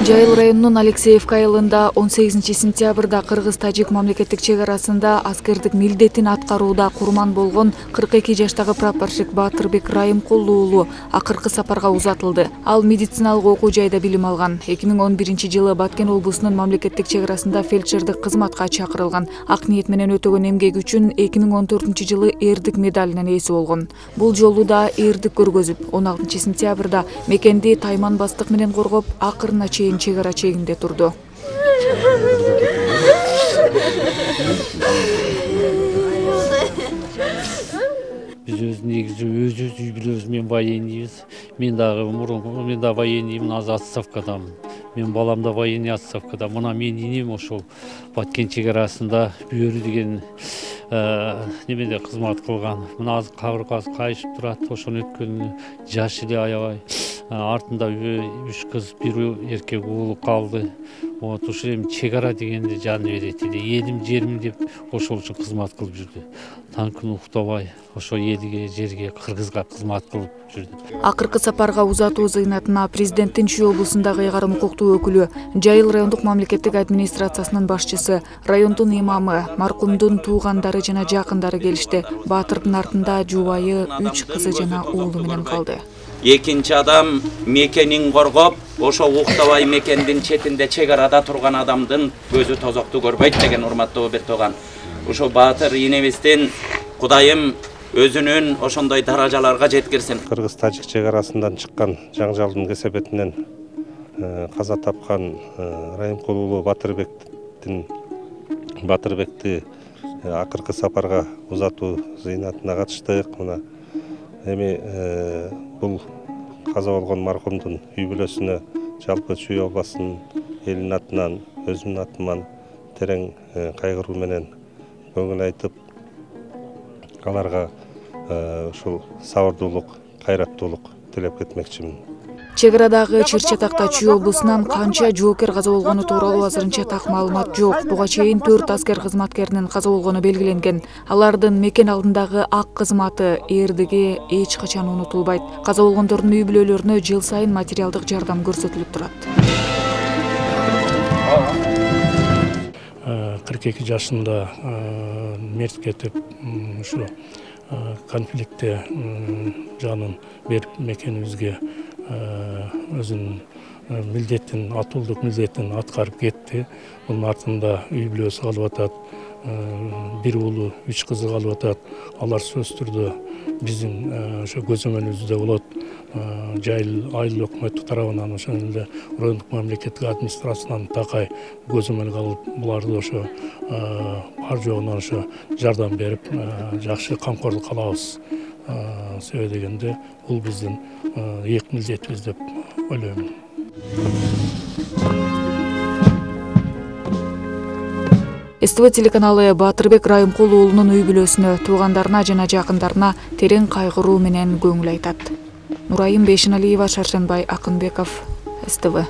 Жайыл районунун Алексеевка айылында 18 сентябрда кыргыз-тажик мамлекеттик чек арасында аскердик милдетин аткарууда курман болгон 42 жаштагы прапорщик Батырбек Райымкул уулу акыркы сапарга узатылды. Ал медициналык окуу жайда билим алган. 2011-жылы Баткен облусунун мамлекеттик чек арасында фельдшердик кызматка чакырылган. Ак ниет менен өтөгөн эмгеги үчүн 2014-жылы эрдик медалинин ээси болгон. Бул жолу да эрдик көргөзүп, 16 сентябрда мекенди тайман бастык менен коргоп, акырына чейин чек ара чегинде турду. Биз негизи өзүбүз үй билебиз, мен военныйбыз. Мен дагы военныймын, азыр отставкадамын. Мен балам да военный отставкада. Мына мен инем ошол Баткен чек арасында Бүйөрү деген немеде кызмат кылган. Мына азыр кабыргасы кайышып турат, ошону өткөнү жаш эле аябай. Артында 3 кыз, 1 эркек уулу калды. Вот ошо эми чек ара дегенде жаны берет эле. Элим, жерим деп ошол үчүн кызмат кылып жүрдү. Танкын уктабай, ошо элге, жерге, кыргызга кызмат кылып жүрдү. Акыркы сапарга узатуу зыйнатына президенттин Чүй облусундагы ыйгарым укуктуу өкүлү, Жайыл райондук мамлекеттик администрациясынын башчысы, райондун имамы, маркумдун туугандары жана жакындары келишти. Баатырдын артында жубайы, 3 кызы жана уулу менен калды. Экинчи адам мекенин коргоп, ошо уктабай мекендин четинде чек арада турган адамдын көзү тозокту көрбөйт деген урматтуу Бертоган. Ошо Баатыр инебиздин Кудайым өзүнүн ошондой даражаларга жеткирсин. Кыргыз-тажик чек арасынан чыккан жаңжалдын кесепетинен каза тапкан Райымкул уулу Батырбекти акыркы сапарга узатуу зыйнатына катыштык. Мына эми бул каза болгон маркумдун үй бүлөсүнө жалпы Чүй областынын элинин атынан, өзүмдүн атыман терең кайгыруу менен көңүл айтып, аларга ушул сабырдуулук, кайраттуулук тилеп кетмекчимин. Чек арадагы Чыр-Чатакта Чүй облусунан канча жоокер каза болгону тууралуу азырынча так маалымат жок. Буга чейин 4 аскер кызматкеринин каза болгону белгиленген. Алардын мекен алдындагы ак кызматы, эрдиги эч качан унутулбайт. Каза болгондордун үй бүлөлөрүнө жыл сайын материалдык жардам көрсөтүлүп турат. 42 жашында мерт кетип, ушу конфликтте жанын берип мекенибизге өзүнүн милдетин, атуулдук милдетин аткарып кетти. Мунун артында үй бүлөсү калып атат, 1 уулу, 3 кызы калып атат. Алар сөзсүз түрдө биздин ошо көзөмөлүбүздө болот. Жайыл айыл өкмөтү тарабынан ошол эле райондук мамлекеттик администрациядан такай көзөмөлгө алып, буларды ошо бар жогунан ошо жардам берип, жакшы камкорлук кылабыз. Себеби дегенде бул биздин эки милдетибиз деп ойлойм. СТВ телеканалы Батырбек Райымкул уулунун үй бүлөсүнө, туугандарына жана жакындарына терең кайгыруу менен көңүл айтат. Нурайым Бейшеналиева, Шаршенбай Акынбеков, СТВ.